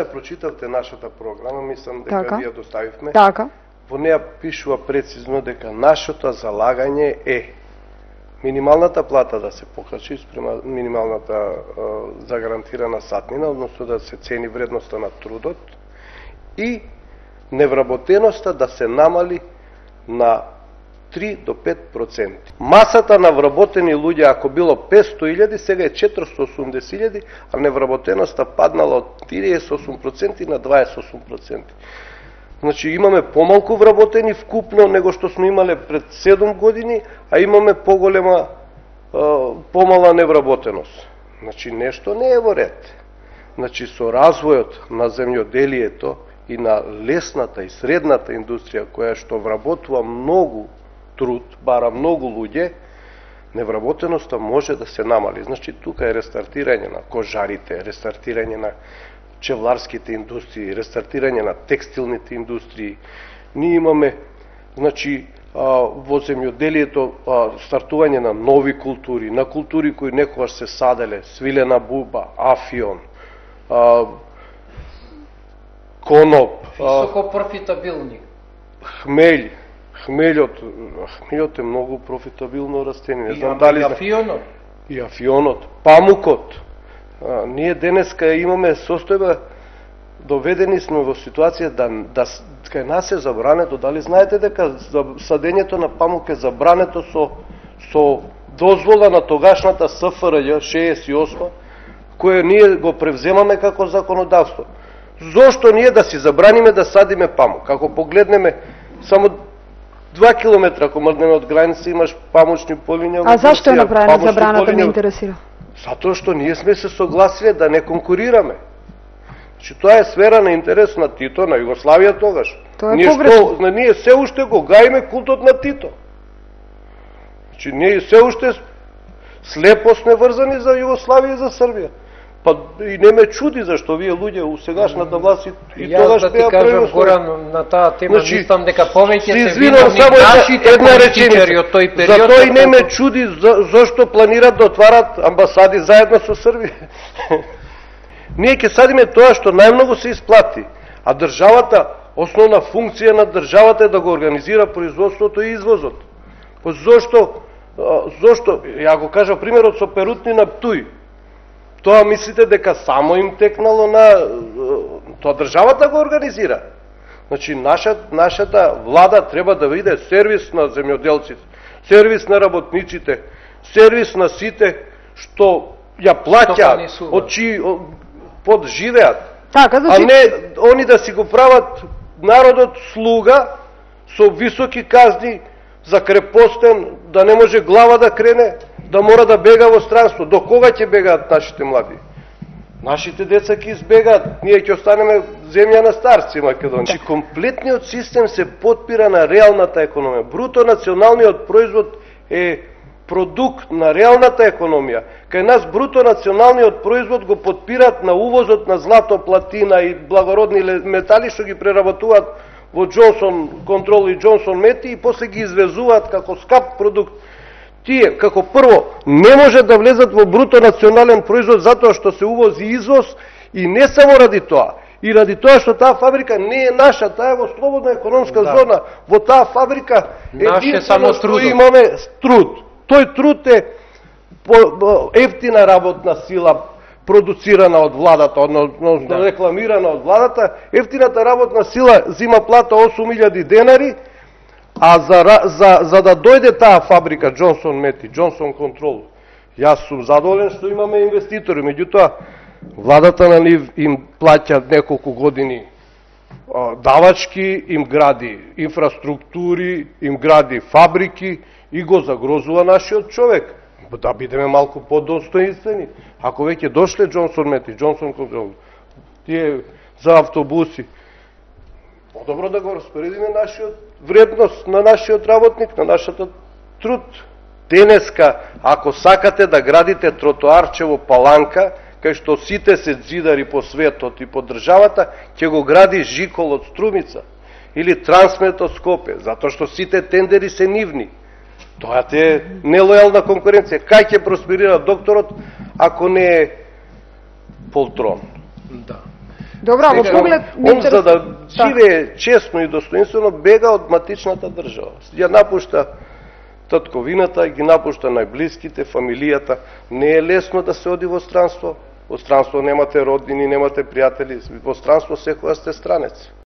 Прочитавте нашата програма, мислам дека вие доставивме. Така. Во неја пишува прецизно дека нашето залагање е минималната плата да се покачи спрема минималната загарантирана сатнина, односно да се цени вредноста на трудот и невработеноста да се намали на 3 до 5%. Масата на вработени луѓе, ако било 500.000, сега е 480.000, а невработеноста паднала од 38% на 28%. Значи имаме помалку вработени вкупно него што сме имале пред 7 години, а имаме помала невработеност. Значи нешто не е во ред. Значи со развојот на земјоделието и на лесната и средната индустрија која што вработува многу труд, бара многу луѓе, невработеноста може да се намали. Значи тука е рестартирање на кожарите, рестартирање на пчеларските индустрии, рестартирање на текстилните индустрии. Ние имаме, значи, во земјоделието стартување на нови култури, на култури кои некогаш се саделе, свилена буба, афион, коноп, високо профитабилни, хмелј. Хмелјот е многу профитабилно растение. Не знам дали афионот. И афионот, памукот. Ние денеска имаме состојба, доведени сме во ситуација да кај нас е забрането. Дали знаете дека садењето на памук е забрането со дозвола на тогашната СФРЈ 68, која ние го превземаме како законодавство. Зошто ние да си забраниме да садиме памук? Ако погледнеме само 2 километра, ако мрднеме од граница, имаш памучни полиња. А зашто е направена забраната, ме интересира? Затоа што ние сме се согласиле да не конкурираме. Значи, тоа е сфера на интерес на Тито, на Југославија тогаш. Тоа е погрешно. Ние се уште го гаиме култот на Тито. Значи, ние се уште слепо сме врзани за Југославија и за Србија. Па и не ме чуди зашто вие луѓе у сегашната власт и тогаш да ти кажам гора на таа тема, значи, мислам дека повеќе се виновни нашите политичари од тој период. Затоа и не ме чуди зашто планират да отварат амбасади заедно со Србија. Ние ќе садиме тоа што најмногу се исплати, а државата, основна функција на државата е да го организира производството и извозот. Па зошто, ја го кажа примерот со перутни на Птуј. Тоа мислите дека само им текнало на... Тоа државата го организира. Значи, нашата влада треба да биде сервис на земјоделците, сервис на работниците, сервис на сите што ја плаќа, од чии подживеат. Така, значи... А не они да си го прават народот слуга со високи казни за крепостен, да не може глава да крене, да мора да бега во странство. До кога ќе бегаат нашите млади? Нашите деца ќе избегаат, ние ќе останеме земја на старци Македонија. Значи, комплетниот систем се потпира на реалната економија. Бруто националниот производ е продукт на реалната економија. Кај нас бруто националниот производ го потпират на увозот на злато, платина и благородни метали што ги преработуваат во Джонсон Контрол и Джонсон Мети и после ги извезуваат како скап продукт. Тие, како прво, не може да влезат во бруто национален производ затоа што се увози и извоз и не само ради тоа. И ради тоа што таа фабрика не е наша, таа е во слободна економска зона. Во таа фабрика единствено што имаме труд. Тој труд е ефтина работна сила продуцирана од владата, односно рекламирана од владата. Ефтината работна сила зима плата 8.000 денари, а за да дојде таа фабрика Джонсон Мети, Джонсон Контрол, јас сум задоволен што имаме инвеститори, меѓутоа владата на нив им плаќа неколку години давачки, им гради инфраструктури, им гради фабрики и го загрозува нашиот човек. Да бидеме малку подостоинствени. Ако веќе дошле Джонсон Мети, Джонсон Контрол, тие за автобуси, подобро да го распоредиме нашиот вредност на нашиот работник, на нашата труд. Денеска, ако сакате да градите тротоарче во Паланка, кај што сите се ѕидари по светот и по државата, ќе го гради Жикол од Струмица или Трансмет од Скопје, затоа што сите тендери се нивни. Тоа е нелојална конкуренција. Кај ќе просперира докторот ако не е полтрон? Да. Добро, во поглед он за да живее честно и достоинствено бега од матичната држава. Ја напушта татковината, ги напушта најблиските, фамилијата. Не е лесно да се оди во странство. Во странство немате роднини, немате пријатели. Во странство секоја сте странец.